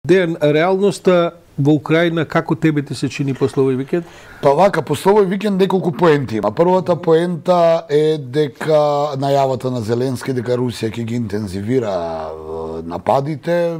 Дејан, реалноста во Украина како тебе ти се чини после овој викенд? Па вака, после овој викенд неколку поенти има. Првата поента е дека најавата на Зеленски дека Русија ќе ги интензивира нападите,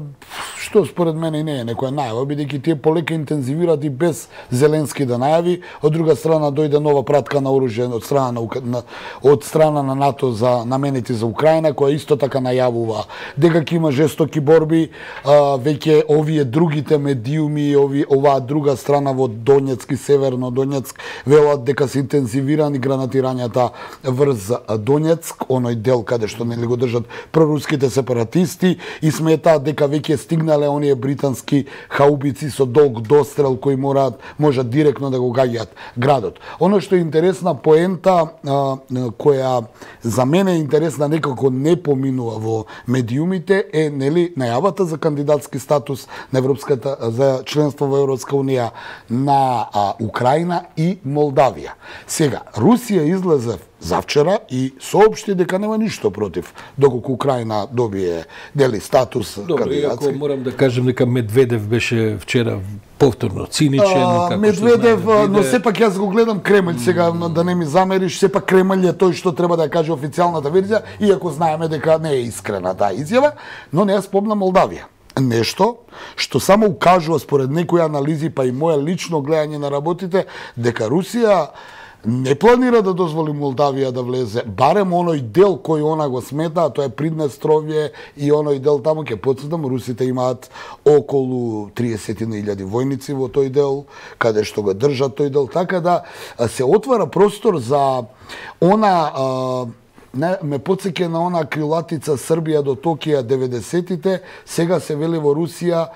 што според мене не е некоја најава, бидејќи тие полека интензивираат и без Зеленски да најави. Од друга страна дојде нова пратка на оружје од страна на НАТО за наменети за Украина, која исто така најавува дека ќе има жестоки борби. Веќе овие другите медиуми, оваа друга страна во Донецк и Северно Донецк велат дека се интензивирани гранатирањата врз Донецк, оној дел каде што нели го држат проруските сепаратисти, и сметаат дека веќе стигнале оние британски хаубици со долг дострел кои можат директно да го гаѓаат градот. Оно што е интересна поента, која за мене е интересна, некако не поминува во медиумите, е нели најавата за кандидатски статус на Европската за членство во Европска унија на Украина и Молдавија. Сега, Русија излезе завчера и соопшти дека нема ништо против доколку Украина добие дели статус кандидатски. Иако морам да кажем дека Медведев беше вчера повторно циничен. Медведев, но сепак јас го гледам Кремљ сега, да не ми замериш, сепак Кремљ е тој што треба да каже официјалната верзија, иако знаеме дека не е искрена таа изјава, но не ја спомна Молдавија. Нешто што само укажува според некои анализи, па и моја лично гледање на работите, дека Русија не планира да дозволи Молдавија да влезе, барем оној дел кој она го смета, а тоа е Приднестровје и оној дел таму. Ќе потсетам, русите имаат околу 30.000 војници во тој дел, каде што го држат тој дел, така да се отвара простор за она. Ме потсеќа на она крилатица Србија до Токија 90-тите, сега се вели во Русија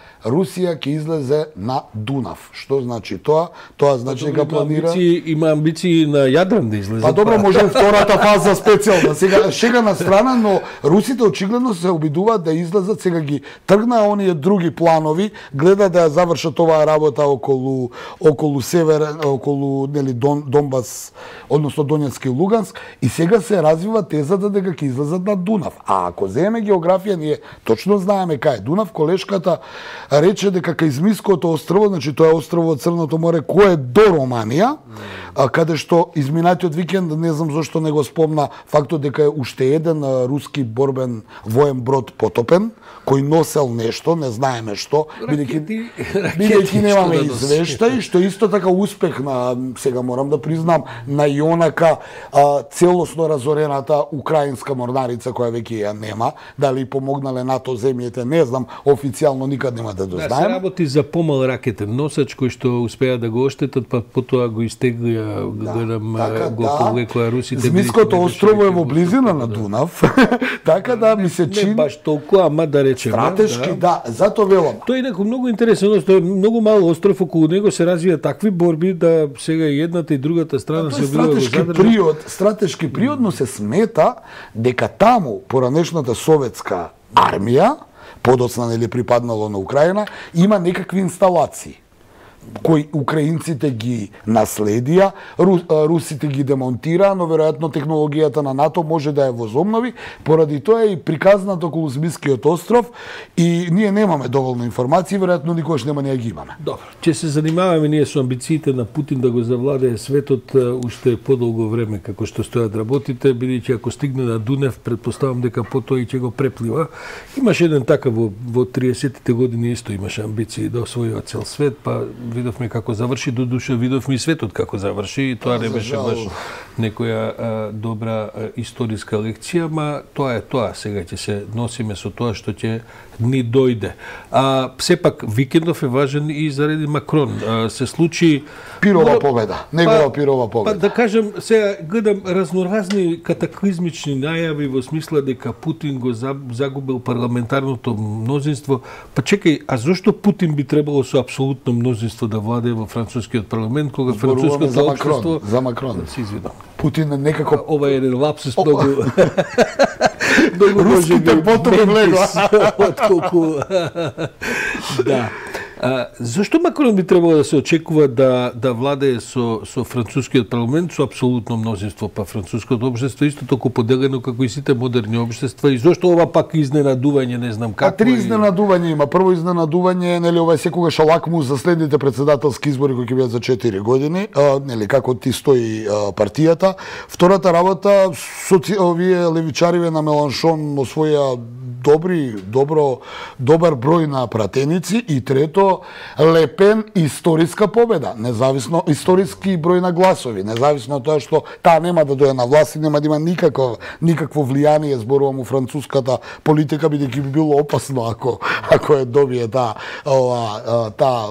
ќе излезе на Дунав. Што значи тоа? Тоа значи дека планира... Има амбиции на Јадран да излезе. Па добро, може втората фаза специјална. Сега, шега на страна, но русите очигледно се обидуваат да излезат, сега ги тргнаа оние други планови, гледа да ја завршат оваа работа околу север, околу нели Донбас, односно Донецк и Луганск, и сега се развива тезата дека ќе излезат на Дунав. А ако земеме географија, ние точно знаеме кај е Дунав. Колешката рече дека кај Измиското острво, значи тоа е острво од Црното море, кој е до Романија, каде што изминатиот викенд, не знам зошто не го спомна фактот дека е уште еден руски борбен воен брод потопен, кој носел нешто, не знаеме што, бидејќи немаме извештај, што исто така успех на, сега морам да признам, на Јонака, целосно разорената украинска морнарица која веќе ја нема, дали помогнале НАТО земјите, не знам, официјално никад нема да дознаем. Да, се работи за помал ракетен носач кој што успеа да го оштетат, па потоа го истеглија, гледам, го повлекоа русите. Измиското острово е во близина на Дунав, така да ми се чини... Не баш толку, ама да речеме. Стратешки, да, зато велам. Тој е некој многу интересен, тоа е многу мал остров, околу него се развија такви борби да сега и едната и другата страна се била во задржа. Стратешки приод, но се смета дека таму поранешната советска армија, подоцна нели припаднало на Украина, има некакви инсталации кои украинците ги наследија, русите ги демонтираа, но веројатно технологијата на НАТО може да ја возобнови, поради тоа е и приказнат околу Змискиот остров, и ние немаме доволно информации, веројатно никогаш нема да ги имаме. Добро, ќе се занимаваме ние со амбициите на Путин да го завладее светот уште подолго време како што стојат работите, бидејќи ако стигне на Дунав, предпоставам дека потоа и ќе го преплива. Имаше еден така во 30-тите години исто имаше амбиции да освојува цел свет, па видовме како заврши, до душа видовме и светот како заврши, и тоа не беше баш некоја добра историска лекција, ма тоа е тоа, сега ќе се носиме со тоа што ќе ни дојде. Сепак викендов е важен и заради Макрон. Се случи Пирова победа, негова Пирова победа. Па да кажем, сега гледам разноразни катаклизмични најави во смисла дека Путин го загубил парламентарното мнозинство. Па чекај, а зошто Путин би требало со апсолутно мнозинство да владее во францускиот парламент, кога француското општество... За Макрон. Се извинам. Путин некако... Ова е еден лапсус многу... Руските потоми влегла. Отколку... Да. Зошто Макрон би требало да се очекува да владее со францускиот парламент со апсолутно мнозинство, па француското општество исто толку поделено како и сите модерни општества, и зошто ова пак изненадување, не знам како. Три изненадувања има. Прво изненадување, нели, ова е секогаш лакмус за следните председателски избори кои ќе бидат за 4 години, нели, како ти стои партијата. Втората работа, овие левичариве на Меланшон освоја добар број на пратеници, и трето, Лепен историска победа, независно историски број на гласови, независно од тоа што таа нема да дојде на власт и нема да има никакво влијание, зборувам, у француската политика, бидејќи би било опасно ако ја добие таа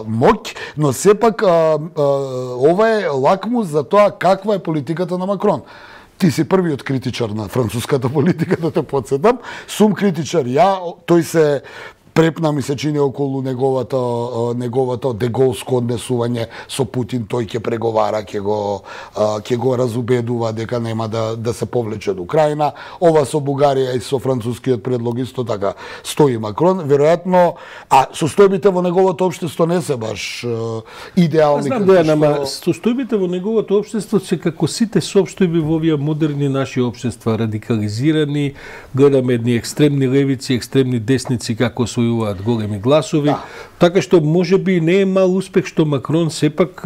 моќ, но сепак ова е лакмус за тоа каква е политиката на Макрон. Ти си првиот критичар на француската политика, да те подсетам. Сум критичар тој се препна, ми се чини, околу неговото деголско однесување со Путин. Тој ќе преговара, ќе го разубедува дека нема да се повлече до Украина. Ова со Бугарија и со францускиот предлог исто така стои Макрон. Веројатно, состојбите во неговото општество не се баш идеални. Знам дека состојбите во неговото општество се како сите соопштојби во овие модерни наши општества, радикализирани, гледаме едни екстремни левици, екстремни десници како освојуваат големи гласови, така што можеби не е мал успех што Макрон сепак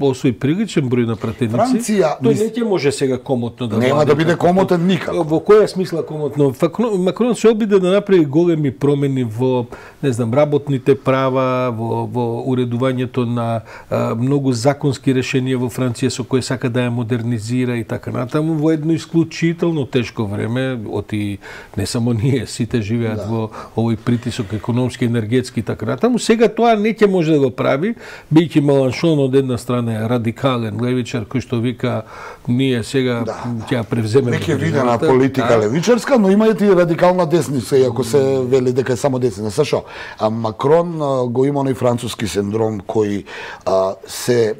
освои приличен број на пратеници. Тој не ќе може сега комотно да нема да биде комотен никако. Во која смисла комотно? Макрон се обиде да направи големи промени во, не знам, работните права, во уредувањето на многу законски решенија во Франција со кои сака да ја модернизира и така натаму, во едно исклучително тешко време, оти не само ние, сите живеат во овој притисок економски, енергетски и така натаму. Сега тоа не ќе може да го прави, бијќи Меланшон од една страна е радикален левичар кој што вика ние сега ќе ја превземеме. Веќе видена политика левичарска, но има и радикална десница, иако се вели дека е само десница. Сашо, Макрон го има оној француски синдром кој се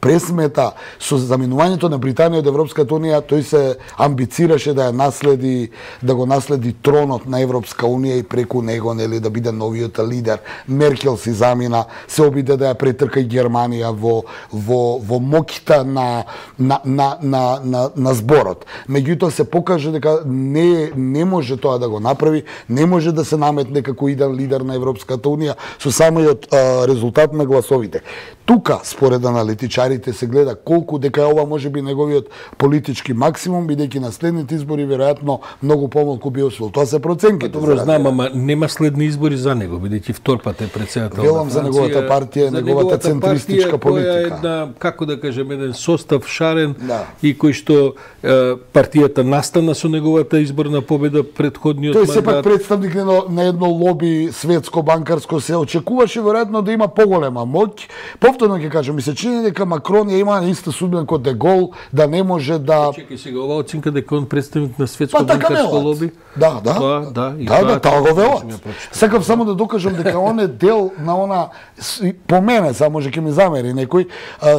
пресмета со заминувањето на Британија од Европската унија. Тој се амбицираше да го наследи тронот на Европска унија и преку него, нели, да биде новиот лидер. Меркел си замина, се обиде да ја претрка и Германија во моќта на зборот. Меѓутоа се покаже дека не може тоа да го направи, не може да се наметне како иден лидер на Европската унија со самиот резултат на гласовите. Тука, според аналитичарите, се гледа колку дека ова може би неговиот политички максимум, бидејќи на следните избори веројатно многу помалку би освоил. Тоа се проценките. Добро, знам, ама нема следни избори за него, бидејќи втор пат е председател на Франција. Велам за неговата партија, неговата центристичка политика. Која е една, како да кажем, еден состав шарен и кој што партијата настана со неговата изборна победа предходниот мандат. Тој сепак представник на едно лоби светско банкарско, се очекуваше веројатно да има поголема моќ. Повторно ќе кажам, ми се чини дека Макрон ја има иста судбина како Де Гол, да не може да... Чекај сега, ова оценка дека он представник на светско банкарско лоби? Да, тоа го велат. Сакам само да докажам дека он е дел на она, по мене, само може ќе ми замери некој,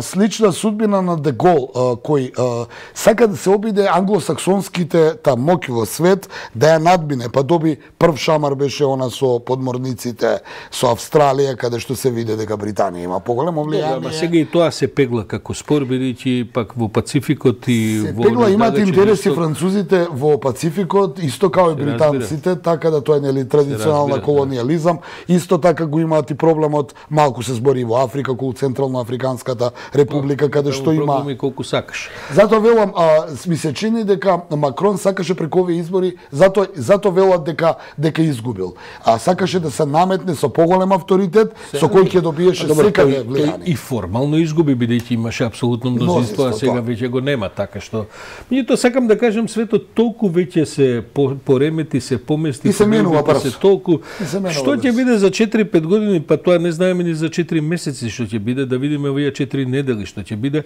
слична судбина на Де Гол, кој сака да се обиде англосаксонските моќ во свет, да ја надбине, па доби прв шамар беше она со подморниците со Австралија, каде што се виде дека Британија има поголемо влијание. Ама сега и тоа се пегла како спор, бидејќи пак во Пацификот и во... Се пегла, имаат интереси французите во Пацификот, исто као и британците, така да тоа е, нели, традиционална колониализам. Исто така го имаат и проблемот, малку се збори во Африка, околу Централно Африканската република, каде што има... Проблеми колку сакаш. Затоа велам, ми се чини дека Макрон сакаше преку овие избори, затоа велат дека изгубил. Сакаше да се наметне со поголем авторитет, со кој ќе добиеше секаде влијание. И формално изгуби, бидејќи имаше апсолутно мнозинство, а сега веќе го нема, така што... Меѓутоа сакам да кажам, светот толку веќе се поремети, се помести, и се менува брзо. Толку... Што ќе биде за 4-5 години, па тоа не знаеме ни за 4 месеци што ќе биде, да видиме овие 4 недели што ќе биде.